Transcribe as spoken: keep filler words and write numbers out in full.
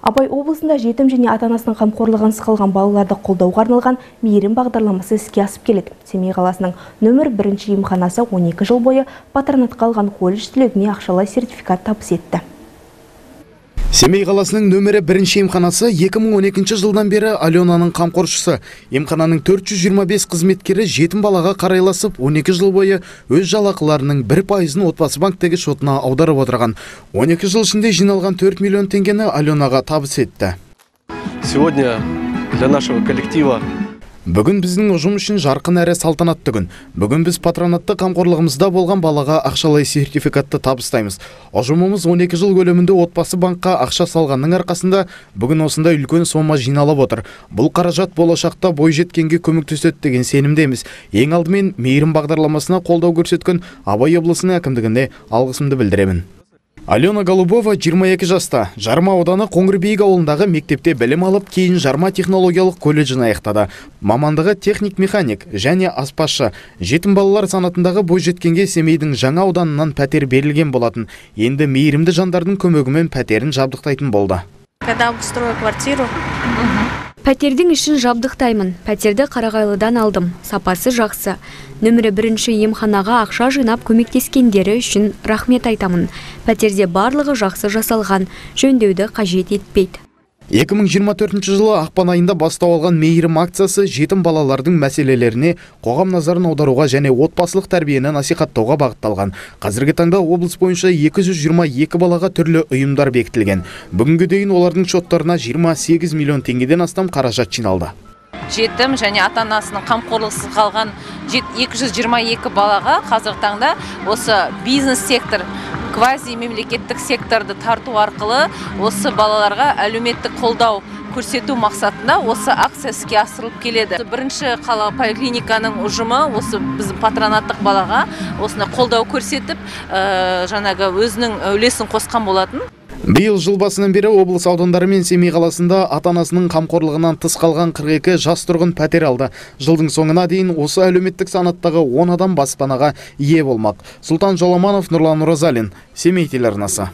Абай облысында жетім және ата-анасының қамқорлығынсыз қалған балаларды қолдауға арналған мейірім бағдарламасы іске асып келеді. Семей қаласының нөмір бірінші емханасы он екі жыл бойы патронатқа алған колледж түлегіне ақшалай сертификат табыс етті. Семей қаласының нөмірі бірінші емханасы екі мың он екінші жылдан бері Аленаның қамқоршысы. Емхананың төрт жүз жиырма бес қызметкері жетім балаға қарайласып, он екі жыл бойы өз жалақыларының бір пайызын отбасы банктегі шотына аударып отырған. он екі жыл ішінде жиналған төрт миллион теңгені Аленаға табыс етті. Сегодня для нашего коллектива Бүгін біздің ұжым үшін жарқын әрі салтанатты күн. Бүгін біз патронатты қамқорлығымызда болған балаға ақшалай сертификатты табыстаймыз. Ұжымымыз он екі жыл көлемінде отбасы банкқа ақша салғанның арқасында бүгін осындай үлкен сома жиналып отыр. Бұл қаражат болашақта бойжеткенге көмектеседі деген сенімдеміз. Ең алдымен мейірім бағдарламасына қолдау көрсеткен Абай облысының әкімдігіне алғысымды білдіремін. Алена Голубова жиырма екі жаста. Жарма ауданы Қоңырбейік ауылындағы мектепте білім алып, кейін Жарма технологиялық колледжін аяқтады. Мамандығы техник-механик және аспазшы. Жетім балалар санатындағы бойжеткенге Семейдің жаңа ауданынан пәтер берілген болатын. Енді мейірімді жандардың көмегімен пәтерін жабдықтайтын болды. Когда обустрою квартиру, Пәтердің ішін жабдықтаймын. Пәтерді Қарағайлыдан алдым. Сапасы жақсы. Нөмірі бірінші емханаға ақша жинап көмектескендері үшін рахмет айтамын. Пәтерде барлығы жақсы жасалған, жөндеуді қажет етпейді. екі мың жиырма төртінші жылы ақпан айында бастау алған мейірім акциясы жетім балалардың мәселелеріне қоғам назарын аударуға және отбасылық тәрбиені насихаттауға бағытталған. Қазіргі таңда облыс бойынша екі жүз жиырма екі балаға түрлі ұйымдар бекітілген. Бүгінгі дейін олардың шоттарына жиырма сегіз миллион теңгеден астам қаражат жиналды. жетім және ата-анасының қамқорлықсыз қалған екі жүз жиырма екі балаға қазіргі таңда осы бизнес сектор, квази мемлекеттік секторды тарту арқылы осы балаларға әлеуметтік қолдау көрсету мақсатында осы акция іске асырылып келеді. Бірінші қала поликлиниканың ұжымы осы біздің патронаттық балаға осыны қолдау көрсетіп, жаңағы өзінің үлесін қосқан болатын. Биыл жыл басынан бері облыс аудандары мен Семей қаласында ата-анасының қамқорлығынан тыс қалған қырық екі жас тұрғын пәтер алды. Жылдың соңына дейін осы әлеуметтік санаттағы он адам баспанаға ие болмақ. Сұлтан Жоламанов, Нұрлан Оразалин, Семей телеарнасы.